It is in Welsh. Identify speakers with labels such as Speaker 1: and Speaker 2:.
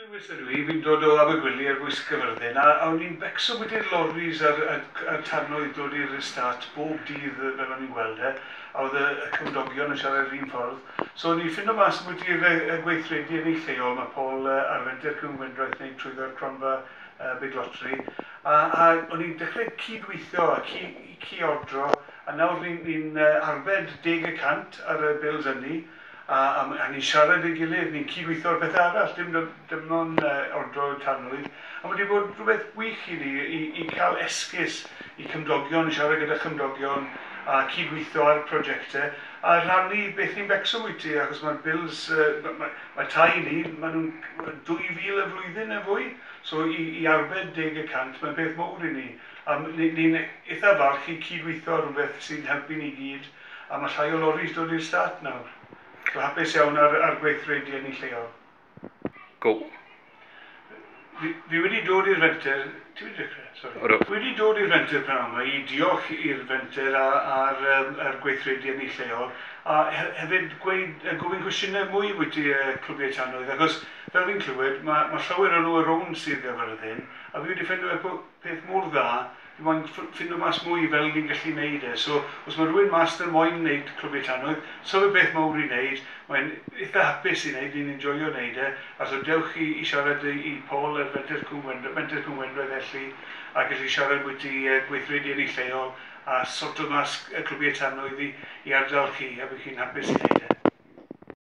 Speaker 1: Lewis ydw i, fi'n dod o Abergwili ar bwys Caerfyrddin, a o'n i'n becso bwyti'r loris a'r tannoedd dod i'r estate bob dydd fel o'n i'n gweld e, a oedd y cymdogion yn siarad yr un ffordd. So o'n i'n ffindo mas bwyti'r y gweithredu yn ei lleol, mae Paul ar Fenter Cwm Gwendraeth wneud trwyddo'r cronfa Big Lottery, a o'n i'n dechrau cydweithio a cydodro, a nawr ni'n arbed 10% ar y bills ynni, a ni'n siarad ei gilydd, ni'n cydweithio ar bethau arall, dim ond ordro tanwydd. A mae wedi bod rhywbeth gwych i ni i cael esgus i cymdogion, siarad gyda chymdogion a cydweithio ar prosiectau a rhannu beth ni'n becso bwyty, achos mae'r bills, mae tai ni, maen nhw'n 2,000 y flwyddyn neu fwy, so i arbed 10%, mae'n peth mawr i ni. A ni'n eitha falch i cydweithio ar rhywbeth sy'n helpu ni gyd, a mae llai o loris dod i'r stad nawr. So hapus iawn ar gweithredu yn ei lleol.
Speaker 2: Go.
Speaker 1: Fi wedi dod i'r fenter. Ti wedi dechrau? Sorry.
Speaker 2: Odw.
Speaker 1: Fi wedi dod i'r fenter prynhawn yma i diolch i'r fenter a'r gweithredu yn ei lleol a hefyd gweud, gofyn cwestiynau mwy bwyty clwbiau tanwydd, achos fel fi'n clywed mae llawer o nhw ar rownd Sir Gaerfyrddin a fi wedi ffeindio fe peth mor dda, fi moyn ffindo mas mwy fel ni'n gallu neud e. So os mae rhywun mas 'na moyn neud clwbiau tanwydd, so fe beth mawr i wneud, mae'n eitha hapus i wneud, ni'n enjoyo wneud e, a so dewch i siarad i Paul ar Fenter Cwm Gwendraeth, Menter Cwm Gwendraeth felly, a gallu siarad bwyty gweithredu yn ei lleol a sorto mas y clwbiau tanwydd i ardal chi, a bydd chi'n hapus i wneud.